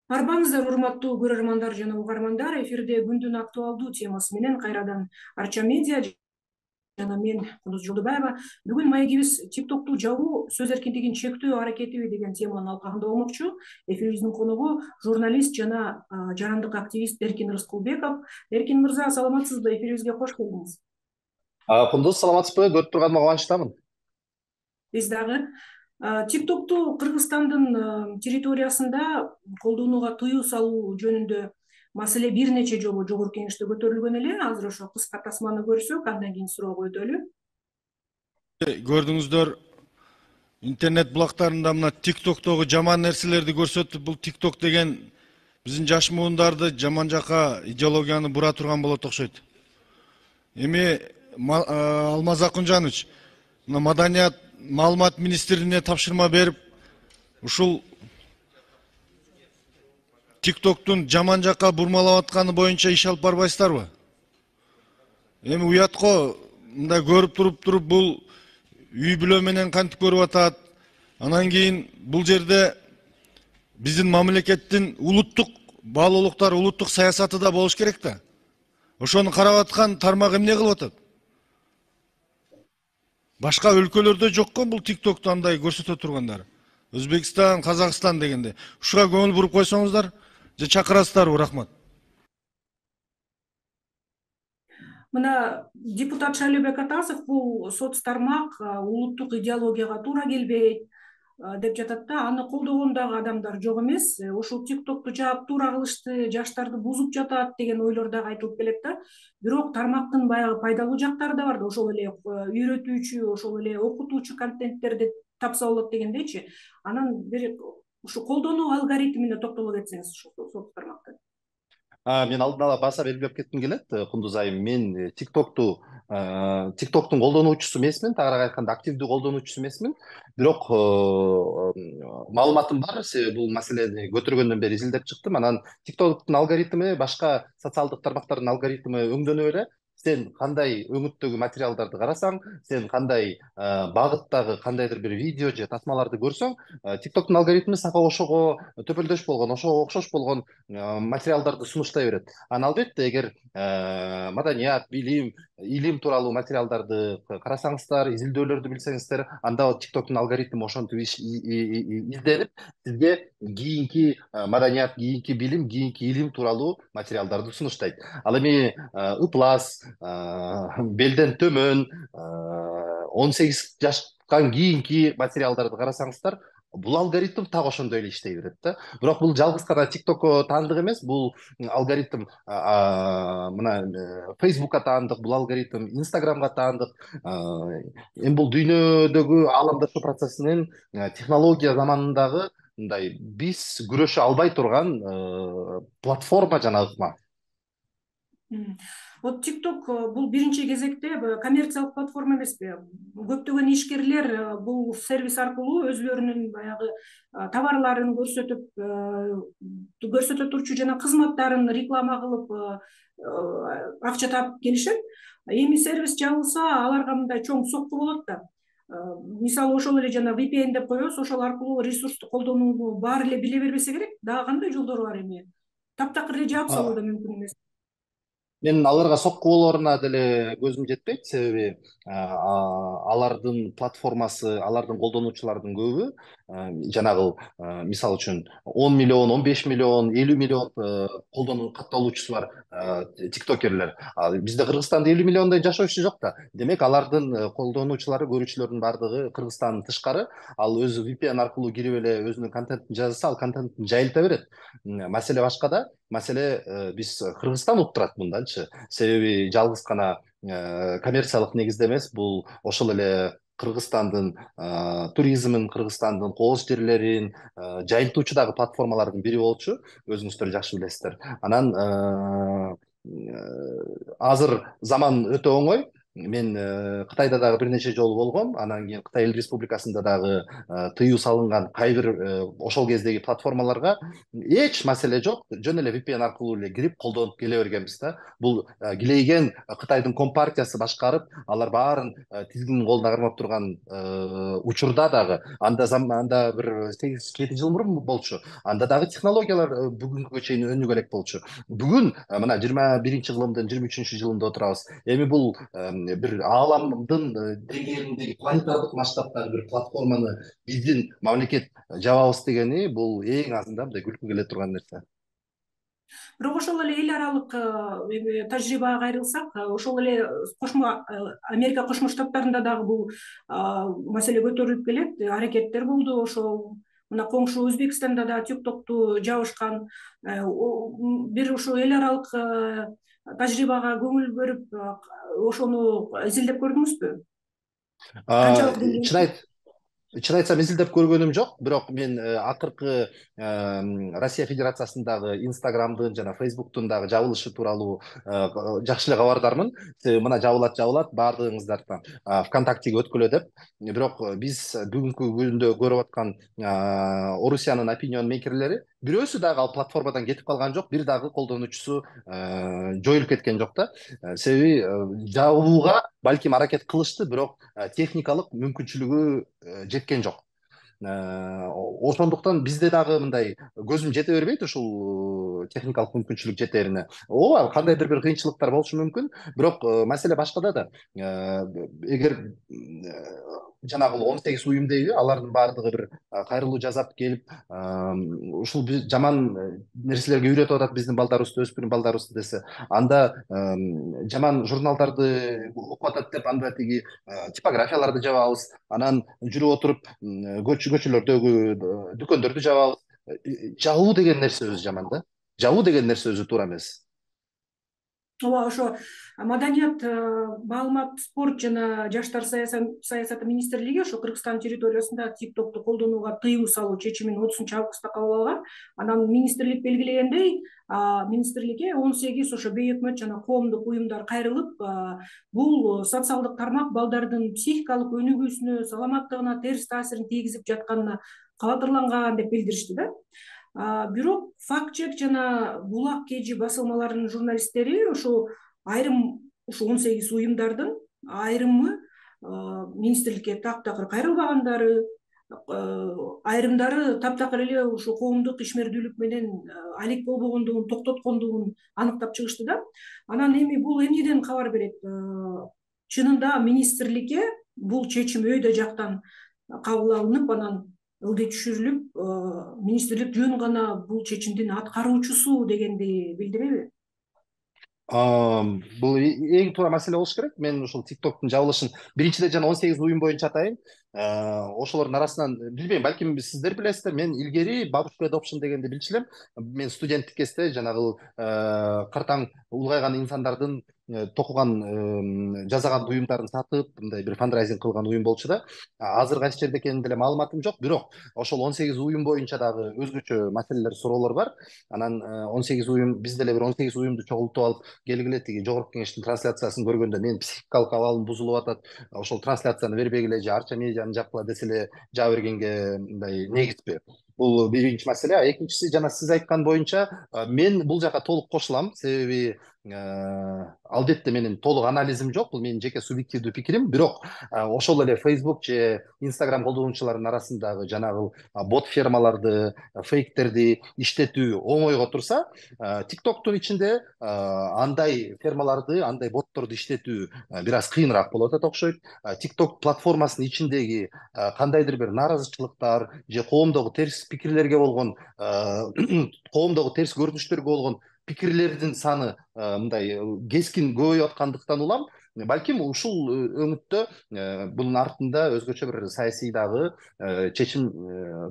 Арбаңыздар, урматтуу көрөрмандар жана угармандар. Эфирде күндүн актуалдуу темасы менен кайрадан Арча медиа жана мен Кундуз Жолдубаева. Бүгүн маегибиз TikToкту жабуу сөз эркиндигин чектөө аракетиби деген теманын алкагында болмокчу. Эфирибиздин коногу журналист жана жарандык активист Эркин Рыскулбеков. Эркин мырза, саламатсызбы? Эфирибизге кош келдиңиз. Кундуз, саламатсызбы? Көрүп турганыма кубанычтамын. Биз дагы TikToкту Кыргызстандын территориясында колдонууга тыюу салуу жөнүндө маселе бир нече жолу жогорку кеңеште көтөрүлгөн эле. Азыр ошо кыска тасманы көрсөк, андан кийин суроого өтөлү. Көрдүңүздөр, интернет булактарында мына TikToктогу жаман нерселерди көрсөтүп, бул TikTok деген биздин жаш муундарды жаман жака идеологияны бура турган болот окшойт. Эми Алмаз Акунжанович мына маданият маалымат министрине тапшырма берип, ушул TikToктун жаман жака бурмалап атканы боюнча иш алып барбайсыздарбы? Эми уятко мындай көрүп туруп бул үй бүлө менен кантип көрүп атат. Анан кийин бул жерде биздин мамлекеттин улуттук баалуулуктар, улуттук саясаты да болуш керек да. Ошону карап аткан тармак эмне кылып атат? Башка өлкөлөрдө жокко бул TikToкту андай көрсөтө тургандар. Өзбекстан, Казакстан дегенде. Ушуга көңүл буруп койсоңуздар, же чакырасыздарбы? Рахмат. Мына депутат Шайлообек Атасов бул соц тармак улуттук идеологияга туура келбейт деп жатат да. Аны колдогон дагы адамдар жок эмес. Ушул TikToкту жаап туура кылышты, жаштарды бузуп жатат деген ойлор дагы айтылып келет да. Бирок тармактын баягы пайдалуу жактары да бар да. Ошол эле үйрөтүүчү, ошол эле окутуучу контенттерди тапса болот дегендейчи. Анан бир ушу колдонуу алгоритмине токтоло кетсеңиз ушул соц тармакты. Мен алдын ала баса белгилеп кетким келет, Кундуз айым. Мен TikToктун колдонуучусу эмесмин, тагыраак айтканда активдүү колдонуучусу эмесмин. Бирок маалыматым бар, себеби бул маселени көтөргөндөн бери изилдеп чыктым. Анан TikToктун алгоритми башка социалдык тармактардын алгоритми өңдөнүп эле. Сен кандай өңүттөгү материалдарды карасаң, сен кандай багыттагы кандайдыр бир видео же тасмаларды көрсөң, TikToктун алгоритми сага ошого төпөлдөш болгон, ошого окшош болгон материалдарды сунуштай берет. Анан албетте, эгер маданият, билим, илим тууралуу материалдарды карасаңыздар, изилдөөлөрдү билсеңиздер, анда TikToктун алгоритми ошентип изденип, сизге кийинки маданият, кийинки билим, кийинки илим тууралуу материалдарды сунуштайт. Ал эми ыплас, белден төмөн, 18 жаштан кийинки материалдарды карасаңыздар, бул алгоритм так ошондой эле иштей берет да. Бирок бул жалгыз гана TikTokко таандык эмес, бул алгоритм мына Facebookка таандык, бул алгоритм Instagramга таандык. Эми бул дүйнөдөгү ааламдашуу процессинин технология заманындагы мындай биз күрөшө албай турган платформа жана ыкма. Вот TikTok бул биринчи кезекте коммерциялык платформа эмеспи? Көптөгөн ишкерлер бул сервис аркылуу өзлөрүнүн баягы товарларын көрсөтө турчу жана кызматтарын реклама кылып акча таап келишет. Эми сервис жабылса, аларга мындай чоң сокку болот да. Мисалы ошол эле жана VPN деп коебуз, ошол аркылуу ресурсту колдонууну баары эле биле бербесе керек. Дагы кандай жолдору бар эми? Таптакыр эле жаап салуу да мүмкүн эмес. Мен аларга сокку болооруна деле көзүм жетпейт, себеби алардын платформасы, алардын колдонуучулардын көбү жанагы мисалы үчүн 10 миллион, 15 миллион, 50 миллион колдонуу катталуучусу бар тиктокерлер. Бизде Кыргызстанда 50 миллиондой жашоочу жок да. Демек алардын колдонуучулары, көрүүчүлөрдүн баардыгы Кыргызстандан тышкары. Ал өзү VPN аркылуу кирип эле өзүнүн контентин жазса, ал контентин жайылта берет. Маселе башкада. Маселе биз Кыргызстан уктурат мындачы. Себеби жалгыз гана коммерциялык негизде эмес, бул ошол эле Кыргызстандын туризмин, Кыргызстандын кооз жерлерин жайылтуучу дагы платформалардын бири болчу. Өзүңүздөр жакшы билесиздер. Анан азыр заман өтө оңой. мен Кытайда дагы бир нече жолу болгом. Анан кийин Кытай Эл Республикасында дагы тыюу салынган кай бир ошол кездеги платформаларга эч маселе жок. Жөн эле VPN аркылуу эле кирип колдонуп келе бергенбиз да. Бул килейген Кытайдын компартиясы башкарып, алар баарын тизгинин колуна кармап турган учурда дагы анда бир 8-7 жыл мурун болчу. Анда дагы технологиялар бүгүнкүгө чейин өнүгө элек болчу. Бүгүн мына 21-кылымдын 23-жылында отурабыз. Эми бул бир ааламдын деңгээлиндеги планетардык масштабтагы бир платформаны биздин мамлекет жабабыз дегени бул эң азында мындай күлкү келе турган нерсе. Бирок ошол эле эл аралык тажрыйбага кайрылсак, ошол эле Америка Кошмо Штаттарында дагы бул маселе көтөрүлүп келет, аракеттер болду. Ошол мына коңшу Өзбекстанда да TikTok'ту жабышкан. Бир ошо эл аралык тажрыйбага көңүл бөлүп, ошону изилдеп көрдүңүзбү? Канчалык Чын айтсам изилдеп көргөнүм жок, бирок мен акыркы Россия Федерациясындагы Инстаграмдын жана Фейсбуктун дагы жабылышы тууралуу жакшы эле кабардармын. Мына жабылат баардыгыңыздардан ВКонтактеге өткүлө деп. Бирок биз бүгүнкү күндө көрүп аткан Орусиянын opinion мейкерлери бирөөсү дагы ал платформадан кетип калган жок, бир дагы колдонуучусу жоюлуп кеткен жок да. Себеби жабууга балким аракет кылышты, бирок техникалык мүмкүнчүлүгү жеткен жок. Ошондуктан бизде дагы мындай көзүм жете бербейт ушул техникалык мүмкүнчүлүк жетерине. Ооба, кандайдыр бир кыйынчылыктар болушу мүмкүн, бирок маселе башкада да. Эгер жанагы 18 уюм дейби, алардын баардыгы бир кайрылуу жасап келип, ушул жаман нерселерге үйрөтүп атат биздин балдарыбызды, өспүрүм балдарыбызды десе, анда жаман журналдарды окуп атат деп, анда тиги типографияларды жабабыз, анан жүрүп отуруп көчөлөрдөгү дүкөндөрдү жабабыз. Жабуу деген нерсе өзү жаман да. Жабуу деген нерсе өзү туура эмес. Ооба, ошо маданият, маалымат, спорт жана жаштар саясаты министрлиги ошо Кыргызстан территориясында TikTok'ту колдонууга тыюу салуу чечимин 30-августта кабыл алган. Анан министрлик белгилегендей, министрликке 18 ошо бейөкмөт жана коомдук уюмдар кайрылып, бул социалдык тармак балдардын психикалык өнүгүүсүнө, саламаттыгына терс таасирин тийгизип жатканына кабатырланган деп билдиришти да. Бирок факт чек жана Булак KG басылмаларынын журналисттери ошо айрым 18 уюмдардын айрымы министрликке таптакыр кайрылбагандары, айрымдары таптакыр эле ошо коомдук ишмердүүлүк менен алек болбогондугун, токтоткондугун аныктап чыгышты да. Анан эми бул эмнеден кабар берет? Чынында министрликке бул чечим өйдө жактан кабыл алынып, анан ылдый түшүрүлүп, министрлик жөн гана бул чечимдин аткаруучусу дегенди билдиреби? Бул эң туура маселе болуш керек. Мен ушул TikTok'тун жабылышын биринчиден жана 18 уюм боюнча атайын. Ошолордун арасынан билбейм, балким сиздер билесиздер, мен илгери Бабушка Adoption дегенди билчү элем. Мен студенттик кезде жанагы кыртаң улгайган инсандардын токуган жасаган уюмдарын сатып, мындай бир фандрайзинг кылган уюм болчу да. Азыр кайсы жерде экенин деле маалыматым жок, бирок ошол 18 уюм боюнча дагы өзгөчө маселелер, суроолор бар. Анан 18 уюм, биз деле бир 18 уюмду чогултуп алып келгиле, тиги жогорку кеңештин трансляциясын көргөндө менин психикалык абалым бузулуп атат. Ошол трансляцияны бербегиле же арча медианы жапкыла деселе жаба бергенге мындай негизби. Бул биринчи маселе. Экинчиси, жана сиз айткан боюнча, мен бул жака толук кошулам. Себеби албетте менин толук анализим жок, бул менин жеке субъективдүү пикирим. Бирок ошол эле Facebook же Instagram колдонуучуларынын арасындагы жанагы бот фермаларды, фейктерди иштетүү оңойго турса, TikTok'тун ичинде андай фермаларды, андай ботторду иштетүү бир аз кыйыныраак болуп атат окшойт. TikTok платформасынын ичиндеги кандайдыр бир нааразычылыктар же коомдогу терс пикирлерге болгон, коомдогу терс көрүнүштөргө болгон пикирлердин саны мындай кескин көбөйүп аткандыктан улам, балким ушул өңүттө бунун артында өзгөчө бир саясий дагы чечим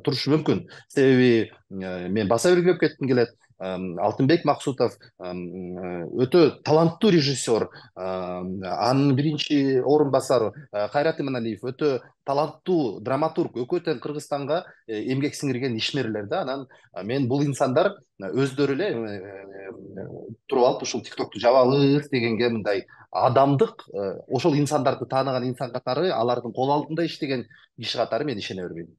турушу мүмкүн. Себеби мен баса белгилеп кетким келет. Алтынбек Максутов өтө таланттуу режиссер, анын биринчи орун басары Кайрат Иманалиев өтө таланттуу драматург, экөө тең Кыргызстанга эмгек сиңирген ишмерлер да. Анан мен бул инсандар өздөрү эле туруп алып ушул тиктокту жабабыз дегенге мындай адамдык ошол инсандарды тааныган инсан катары, алардын кол алдында иштеген киши катары мен ишене бербейм.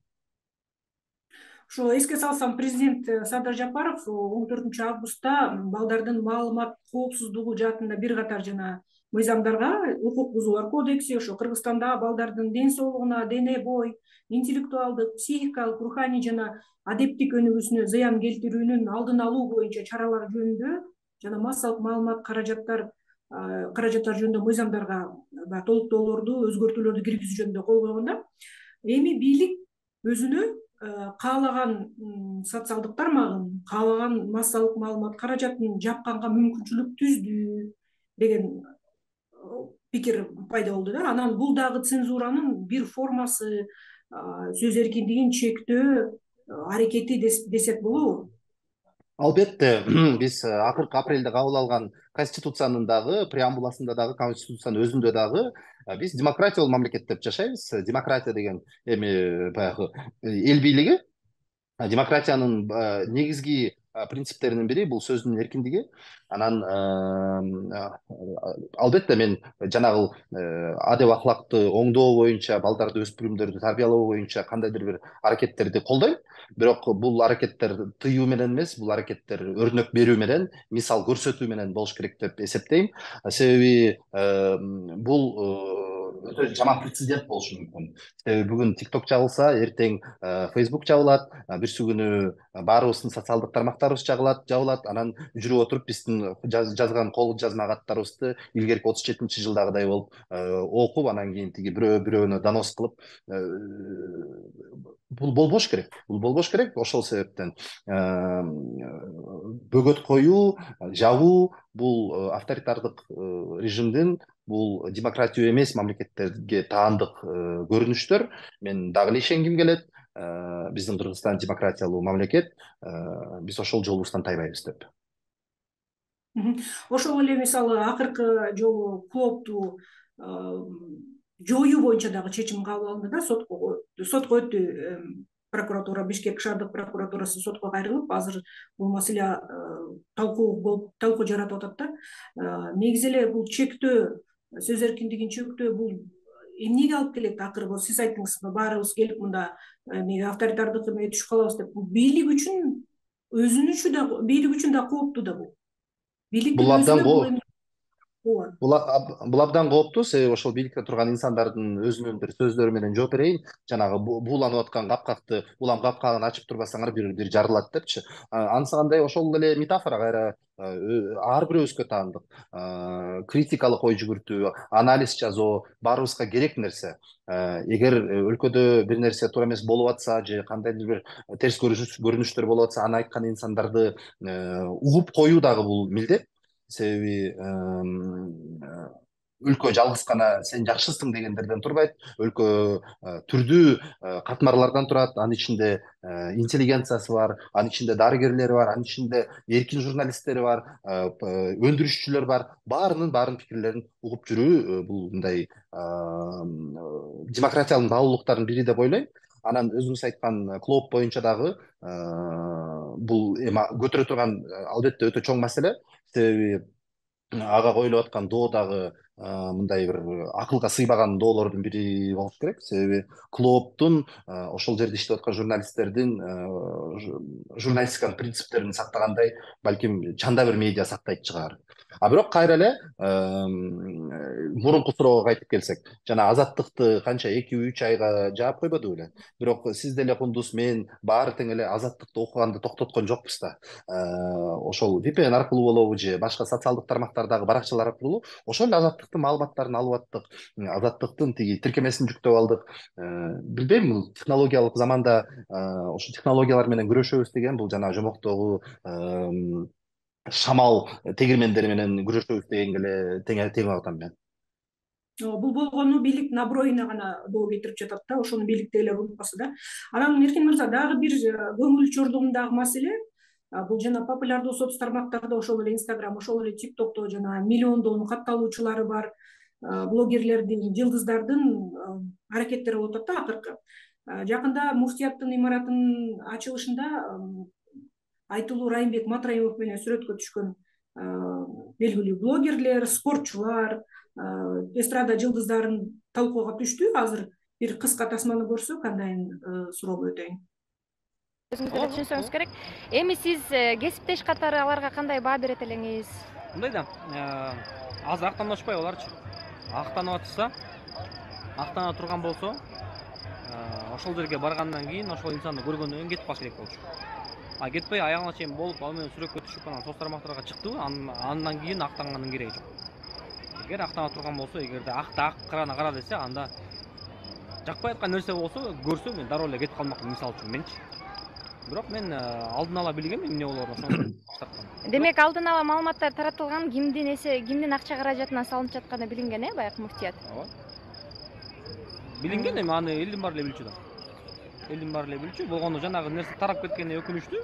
Ошо эске салсам, президент Садыр Жапаров 14 августта балдардын маалымат коопсуздугу жаатында бир катар жана мыйзамдарга, укук бузуулар кодекси, ошо Кыргызстанда балдардын ден соолугуна, дене бой, интеллектуалдык, психикалык, руханий жана адептик өнүгүүсүнө зыян келтирүүнүн алдын алуу боюнча чаралар жөнүндө жана массалык маалымат каражаттар жөнүндө мыйзамдарга толуктоолорду, өзгөртүүлөрдү киргизүү жөнүндө кол койгондо, эми бийлик өзүнө каалаган социалдык тармагын, каалаган массалык маалымат каражатын жапканга мүмкүнчүлүк түздү деген пикир пайда болду да. Анан бул дагы цензуранын бир формасы, сөз эркиндигин чектөө аракети десек болобу? Албетте, биз акыркы апрелде кабыл алган Конституциянын дагы преамбуласында дагы, Конституциянын өзүндө дагы биз демократиялуу мамлекет деп жашайбыз. Демократия деген эми баягы эл бийлиги. Демократиянын негизги принциптеринин бири бул сөздүн эркиндиги. Анан албетте мен жанагы адеп акылакты оңдоо боюнча, балдарды, өспүрүмдөрдү тарбиялоо боюнча кандайдыр бир аракеттерди колдойм. Бирок бул аракеттер тыюу менен эмес, бул аракеттер өрнөк берүү менен, мисал көрсөтүү менен болуш керек деп эсептейм. Себеби бул өтө жаман прецедент болушу мүмкүн. Себеби бүгүн TikTok жабылса, эртең Facebook жабылат, бирси күнү баарыбыздын социалдык тармактарыбыз жабылат, анан жүрүп отуруп биздин жазган кол жазма каттарыбызды илгерки 37-жылдагыдай болуп окуп, анан кийин тиги бирөөнө донос кылып, бул болбош керек. Бул болбош керек. Ошол себептен бөгөт коюу, жабуу бул авторитардык режимдин, бул демократия эмес мамлекеттерге таандык көрүнүштөр. Мен дагы эле ишенгим келет. Биздин Кыргызстан демократиялуу мамлекет, биз ошол жолубуздан тайбайбыз деп. Ошол эле мисалы акыркы жолу клоопту жоюу боюнча дагы чечим кабыл алынды да, сотко өттү. Прокуратура, Бишкек шаардык прокуратурасы сотко кайрылып, азыр бул маселе талкуу жаратып атат да. Негизи эле бул чектөө, сөз эркиндигин чектөө бул эмнеге алып келет? Акыры сиз айттыңыз, баарыбыз келип мында авторитардык эмеге түшүп калабыз деп. Бул бийлик үчүн да кооптуу да бул. Бийликтин өзүнө бул абдан кооптуу. Себеби ошол бийликте турган инсандардын өзүнүн бир сөздөрү менен жооп берейин. Жанагы бууланып аткан капкакты, улам капкагын ачып турбасаңар бир жарылат депчи. Анысы кандай? Ошол эле метафора кайра ар бирөөбүзгө таандык. Критикалык ой жүгүртүү, анализ жасоо баарыбызга керек нерсе. Эгер өлкөдө бир нерсе туура эмес болуп атса же кандайдыр бир терс көрүнүштөр болуп атса, аны айткан инсандарды угуп коюу дагы бул милдет. Себеби өлкө жалгыз гана сен жакшысың дегендерден турбайт. Өлкө түрдүү катмарлардан турат. Анын ичинде интеллигенциясы бар, анын ичинде дарыгерлери бар, анын ичинде эркин журналисттери бар, өндүрүшчүлөр бар. Баарынын пикирлерин угуп жүрүү бул мындай демократиянын баалуулуктарынын бири деп ойлойм. Анан өзүңүз айткан клооп боюнча дагы бул эми көтөрө турган албетте өтө чоң маселе. Себеби ага коюлуп аткан доо дагы мындай бир акылга сыйбаган доолордун бири болуш керек. Себеби клооптун ошол жерде иштеп аткан журналисттердин журналистиканын принциптерин сактагандай балким чанда бир медиа сактайт чыгар. Бирок кайра эле мурунку суроого кайтып келсек, жана азаттыкты канча 2-3 айга жаап койбоду беле? Бирок сиз деле кундуз, мен баары тең эле азаттыкты окуганды токтоткон жокпуз да. Ошол VPN аркылуу болобу же башка социалдык тармактардагы баракчалар аркылуу ошол азаттыктын маалыматтарын алып аттык, азаттыктын тиги тиркемесин жүктөп алдык. Билбейм, бул технологиялык заманда ошол технологиялар менен күрөшөбүз деген бул жана жомоктогу шамал тегирмендери менен күрөшөбүз дегенге эле тең атам мен. Бул болгону бийлик наброюна гана доо кетирип жатат да, ошону бийликтегилер унутпаса да. Анан Эркин мырза, дагы бир көңүл чордугундагы маселе, бул жана популярдуу соц тармактарда, ошол эле Instagram, ошол эле TikTokто жана миллиондон катталуучулары бар блогерлердин, жылдыздардын аракеттери болуп атат да акыркы. Жакында муфтияттын имаратынын ачылышында айтылуу Райымбек Матраимов менен сүрөткө түшкөн белгилүү блогерлер, спортчулар, эстрада жылдыздарын талкууга түштү. Азыр бир кыска тасманы көрсөк, андан суроолор өтөйүн. Өзүңүз деле түшүнсөңүз керек. Эми сиз кесиптеш катары аларга кандай баа берет элеңиз? Мындай да, азыр актанышпай аларчы. Актанып атса, актана турган болсо, ошол жерге баргандан кийин ошол инсанды көргөндөн кийин кетип калыш керек болчу. Кетпей аягына чейин болуп, ал менен сүрөткө түшүп, анан соц тармактарга чыктыбы, андан кийин актанганын кереги жок. Эгер актана турган болсо, эгерде ак карана кара десе, анда жакпай аткан нерсе болсо, көрсө мен дароо эле кетип калмакмын, мисалы үчүн менчи. Бирок мен алдын ала билгем эмне болоруна, сону баштапкан. Демек алдын ала маалыматтар таратылган, кимдин акча каражатынан салынып жатканы билинген, баягы муфтият? Ооба. Билинген, эми аны элдин баары эле билчү да. Элдин баары эле билчү. Болгону жанагы нерсе тарап кеткени өкүнүчтүү,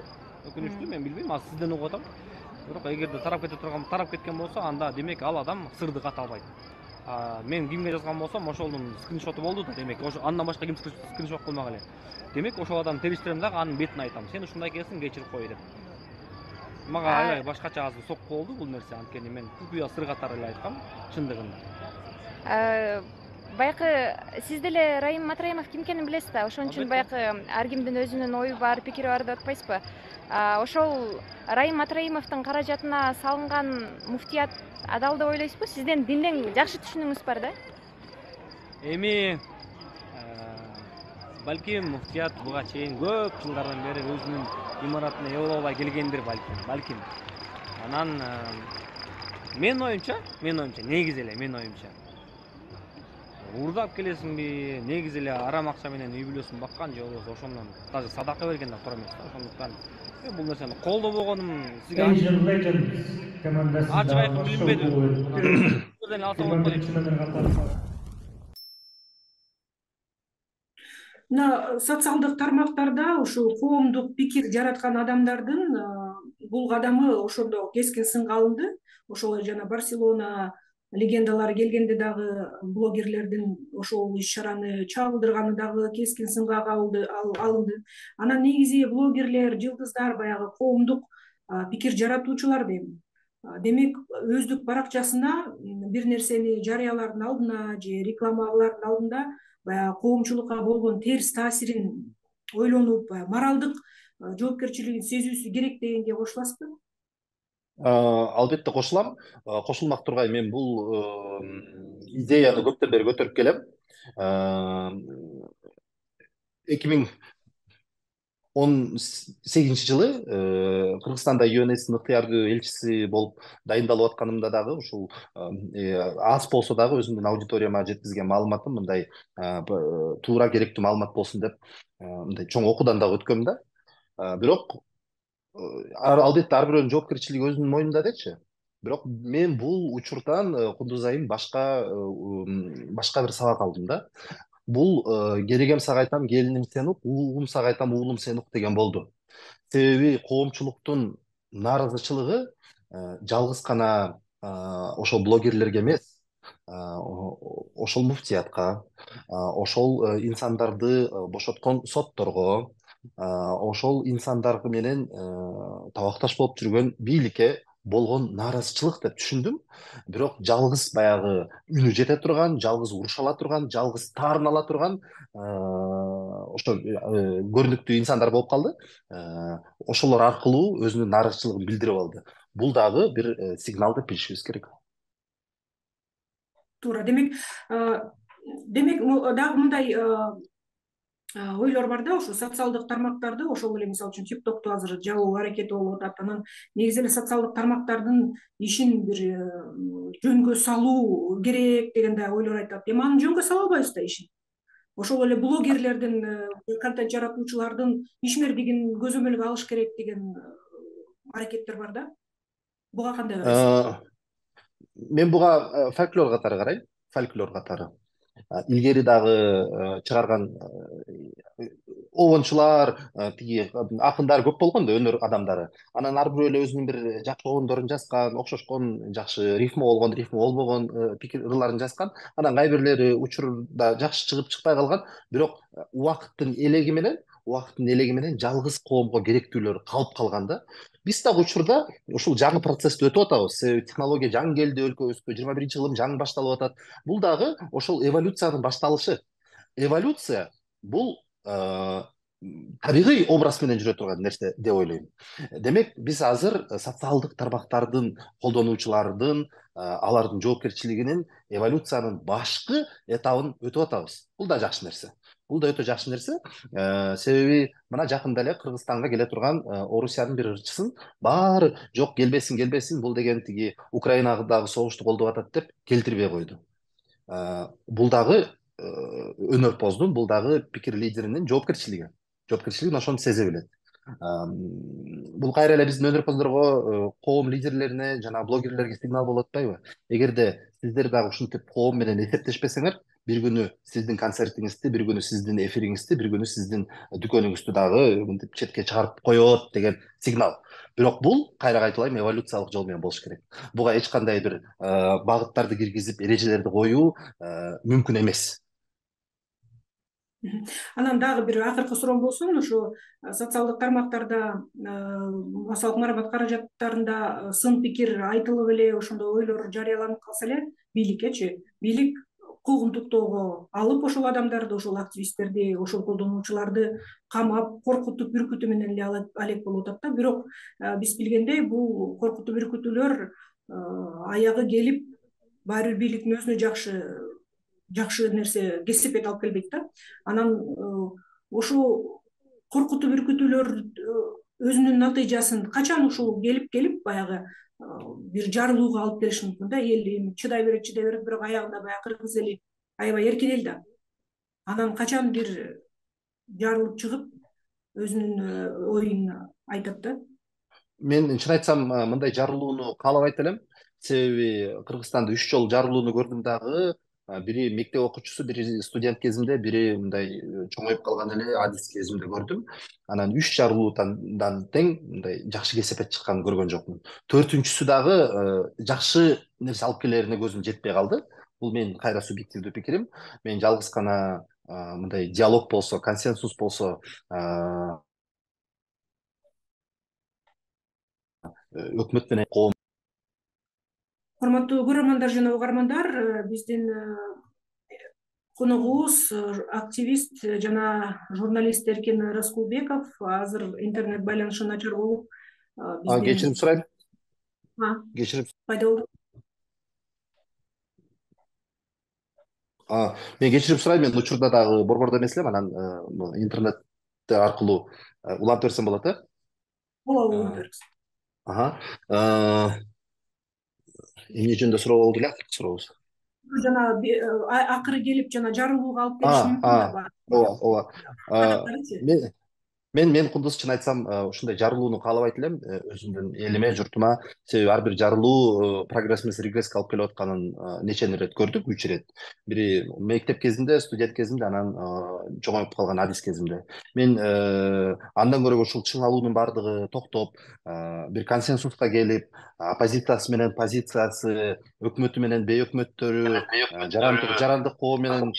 мен билбейм, азыр сизден угуп атам. Бирок эгерде тарап кеткен болсо, анда демек ал адам сырды ката албайт. Мен кимге жазган болсом, ошолдун скриншоту болду да, демек андан башка ким скриншот кылмак эле. Демек ошол адамды териштирем дагы, анын бетин айтам. Сен ушундай экенсиң, кечирип кой деп. Мага аябай башкача азыр сокку болду бул нерсе, анткени мен купуя сыр катары эле айткам, чындыгында. Баягы сиз деле Райым Матраимов ким экенин билесиз да, ошон үчүн баягы ар кимдин өзүнүн ою бар, пикири бар деп атпайсызбы? Ошол Райым Матраимовдун каражатына салынган муфтият адал деп ойлойсузбу? Сиздин динден жакшы түшүнүгүңүз бар да? Эми балким муфтият буга чейин көп жылдардан бери өзүнүн имаратына ээ боло албай келгендир балким. Анан менин оюмча, негизи эле менин оюмча уурдап келесиңби, негизи эле арам акча менен үй бүлөсүн баккан же болбосо ошондон даже садака берген да туура эмес да. Ошондуктан мен бул нерсени колдобогонум сизге ачык айкын билинбеди. Мына социалдык тармактарда ушул коомдук пикир жараткан адамдардын бул кадамы ошондо кескин сынга алынды. Ошол жана Барселона легендалары келгенде дагы блогерлердин ошол иш-чараны чагылдырганы дагы кескин сынга алынды. Анан негизи блогерлер, жылдыздар баягы коомдук пикир жаратуучулар дейм. Демек өздүк баракчасына бир нерсени жарыялаардын алдына же рекламалардын алдында баягы коомчулукка болгон терс таасирин ойлонуп, моралдык жоопкерчилигин сезүүсү керек дегенге кошуласызбы? Албетте кошулам. Кошулмак тургай, мен бул идеяны көптөн бери көтөрүп келем. 2018 жылы Кыргызстанда ЮНСтин ыктыярдуу элчиси болуп дайындалып атканымда дагы ушул аз болсо дагы өзүмдүн аудиторияма жеткизген маалыматым мындай туура керектүү маалымат болсун деп мындай чоң окуудан дагы өткөм да. Бирок албетте ар бирөөнүн жоопкерчилиги өзүнүн мойнунда дечи. Бирок мен бул учурдан Кундуз айым башка бир сабак алдым да. Бул керегем сага айтам, келиним сен ук, угум сага айтам, уулум сен ук деген болду. Себеби коомчулуктун нааразычылыгы жалгыз гана ошол блогерлерге эмес, ошол муфтиятка, ошол инсандарды бошоткон сотторго, ошол инсандар менен табакташ болуп жүргөн бийликке болгон нааразычылык деп түшүндүм. Бирок жалгыз баягы үнү жете турган, жалгыз уруша ала турган, жалгыз таарын ала турган ошо көрүнүктүү инсандар болуп калды. Ошолор аркылуу өзүнүн нааразычылыгын билдирип алды. Бул дагы бир сигнал деп билишибиз керек. Туура. Демек дагы мындай ойлор бар да, ошо социалдык тармактарды, ошол эле мисалы үчүн TikTok'ту азыр жабуу аракети болуп атат. Анан негизи эле социалдык тармактардын ишин бир жөнгө салуу керек деген да ойлор айтат. Эми аны жөнгө сала албайбыз да ишин. Ошол эле блогерлердин, контент жаратуучулардын ишмердигин көзөмөлгө алыш керек деген аракеттер бар да. Буга кандай карайсыз? Мен буга фольклор катары карайм. фольклор катары. Илгери дагы чыгарган обончулар, тиги акындар көп болгон да, өнөр адамдары. Анан ар бирөө эле өзүнүн бир жакшы обондорун жазган, окшошкон, жакшы рифма болгон, рифма болбогон ырларын жазган. Анан кай бирлери учурда жакшы чыгып чыкпай калган, бирок убакыттын элеги менен жалгыз коомго керектүүлөр калып калган да. Биз дагы учурда ушул жаңы процессти өтүп атабыз. Технология жаңы келди өлкөбүзгө, 21-кылым жаңы башталып атат. Бул дагы ошол эволюциянын башталышы. Эволюция бул табигый образ менен жүрө турган нерсе деп ойлойм. Демек, биз азыр социалдык тармактардын колдонуучулардын, алардын жоопкерчилигинин эволюциянын башкы этабын өтүп атабыз. Бул да жакшы нерсе. Бул да өтө жакшы нерсе. Себеби мына жакында эле Кыргызстанга келе турган Орусиянын бир ырчысын баары жок, келбесин, бул деген тиги Украинадагы согушту колдоп атат деп келтирбей койду. Бул дагы өнөрпоздун, бул дагы пикир лидеринин жоопкерчилигин ошону сезе билет. Бул кайра эле биздин өнөрпоздорго, коом лидерлерине жана блогерлерге сигнал болуп атпайбы? Эгерде сиздер дагы ушинтип коом менен эсептешпесеңер, бир күнү сиздин концертиңизди, бир күнү сиздин эфириңизди, бир күнү сиздин дүкөнүңүздү дагы мынтип четке чыгарып коет деген сигнал. Бирок бул, кайра кайталайм, эволюциялык жол менен болуш керек. Буга эч кандай бир багыттарды киргизип, эрежелерди коюу мүмкүн эмес. Анан дагы бир акыркы суроом болсун, ушу социалдык тармактарда, массалык маалымат каражаттарында сын пикир айтылып эле, ошондой ойлор жарыяланып калса эле, бийлик куугунтуктоого алып ошол адамдарды, ошол активисттерди, ошол колдонуучуларды камап, коркутуп, үркүтүү менен эле алек болуп атат да. Бирок биз билгендей, бул коркутуу, үркүтүүлөр аягы келип, баары бир бийликтин өзүнө жакшы нерсе, кесепет алып келбейт да. Анан ошол коркутуу, үркүтүүлөр өзүнүн натыйжасын качан ушул келип баягы бир жарылууга алып келиши мүмкүн да. Эл эми чыдай берет, бирок аягында баягы кыргыз эли аябай эркин да. Анан качан бир жарылып чыгып, өзүнүн оюн айтат да. Мен чын айтсам, мындай жарылууну каалабайт элем. Себеби Кыргызстанда 3 жолу жарылууну көрдүм дагы. Бири мектеп окуучусу, бири студент кезимде, бири мындай чоңоюп калган эле адис кезимде көрдүм. Анан 3 жарылуудан тең мындай жакшы кесепет чыкканын көргөн жокмун. 4-үнчүсү дагы жакшы нерсе алып келерине көзүм жетпей калды. Бул менин кайра субъективдүү пикирим. Мен жалгыз гана мындай диалог болсо, консенсус болсо, өкмөт менен коом. Урматтуу көрөрмандар жана угармандар, биздин коногубуз активист жана журналист Эркин Раскулбеков. Азыр интернет байланышы начар болуп, Кечирим сурайм. Пайда болду. Мен кечирим сурайм, мен учурда дагы борбордо эмес элем, анан интернет аркылуу улантып берсем болот, э? Болобу, улантып бериңиз. Эмне жөнүндө суроо болду эле, сурообуз? Жана акыры келип жана жарылууга алып келиши мүмкүн да. Ооба. Мен кудус чын айтсам, ушундай жарылууну каалабайт элем өзүмдүн элиме, журтума. Себеби ар бир жарылуу прогресс эмес, регресске алып келип атканын нече ирет көрдүк, 3 ирет. Бири мектеп кезинде, студент кезинде, анан чоңоюп калган адис кезимде. Мен андан көрө ушул чыңалуунун баардыгы токтоп, бир консенсуска келип, оппозициясы менен позициясы, өкмөтү менен бейөкмөттөрү, жарандык коом менен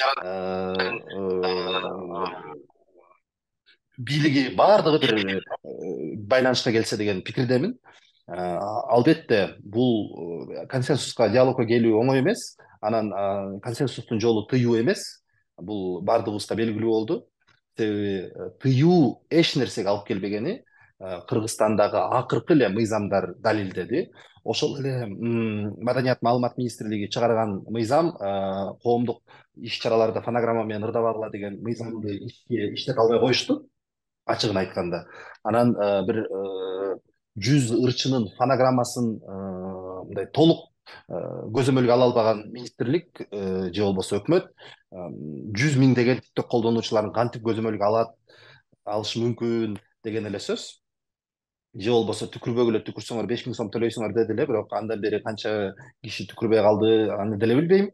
бийлиги баардыгы бир байланышка келсе деген пикирдемин. Албетте бул консенсуска, диалогко келүү оңой эмес. Анан консенсустун жолу тыюу эмес. Бул баардыгыбызга белгилүү болду. Себеби тыюу эч нерсеге алып келбегени Кыргызстандагы акыркы эле мыйзамдар далилдеди. Ошол эле Маданият маалымат министрлиги чыгарган мыйзам, коомдук иш-чараларда фонограмма менен ырдабагыла деген мыйзамды иштете албай коюшту, ачыгын айтканда. Анан бир 100 ырчынын фонограммасын мындай толук көзөмөлгө ала албаган министрлик же болбосо өкмөт 100 миңдеген TikTok колдонуучуларын кантип көзөмөлгө алышы мүмкүн деген эле сөз. Же болбосо түкүрбөгүлө түкүрсөңөр 5000 сом төлөйсүңөр деди эле, бирок андан бери канча киши түкүрбөй калды, аны деле билбейм.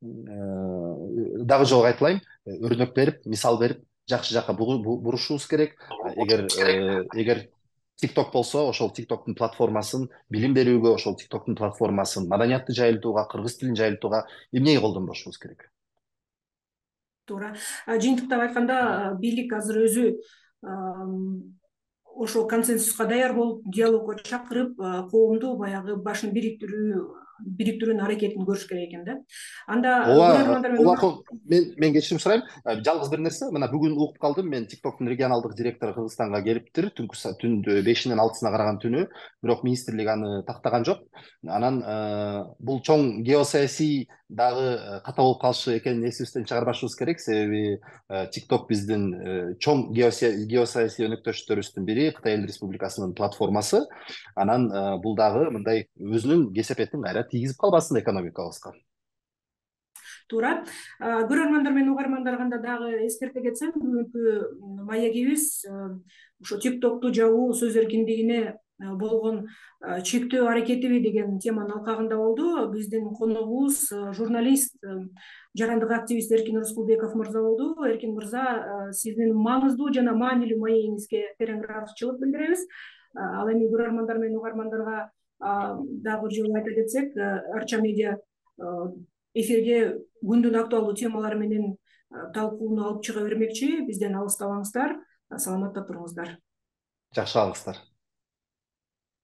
дагы жолу кайталайм, өрнөк берип, мисал берип, жакшы жакка бурушубуз керек. Эгер TikTok болсо, ошол TikToктун платформасын билим берүүгө, ошол TikToктун платформасын маданиятты жайылтууга, кыргыз тилин жайылтууга эмнеге колдонбошубуз керек? Туура. Жыйынтыктап айтканда, бийлик азыр өзү ошол консенсуска даяр болуп, диалогго чакырып, коомду баягы башын бириктирүүнүн аракетин көрүш керек экен да. Анда мен кечирим сурайм. Жалгыз бир нерсе, мына бүгүн угуп калдым, мен TikToктун регионалдык директору Кыргызстанга келиптир, түн 5-ден 6-сына караган түнү, бирок министрлик аны тактаган жок. Анан бул чоң геосаясий дагы ката болуп калышы экенин эсибизден чыгарбашыбыз керек, себеби TikTok биздин чоң геосаясий өнөктөштөрүбүздүн бири, Кытай Эл Республикасынын платформасы. Анан бул дагы мындай өзүнүн кесепетин кайра тийгизип калбасын экономикабызга. Туура. Көрөрмандар менен угармандарга дагы эскерте кетсем, бүгүнкү маегибиз ошо TikToкту жабуу сөз эркиндигине болгон чектөө аракетиби деген теманын алкагында болду. Биздин коногубуз журналист, жарандык активист Эркин Рыскулбеков мырза болду. Эркин мырза, сиздин маңыздуу жана маанилүү маегиңизге терең ыраазычылык билдиребиз. Ал эми көрөрмандар менен угармандарга дагы жолу айта кетсек, Арча медиа эфирге күндүн актуалдуу темалары менен талкууну алып чыга бермекчи. Бизден алыстабаңыздар, саламатта туруңуздар. Жакшы калыңыздар.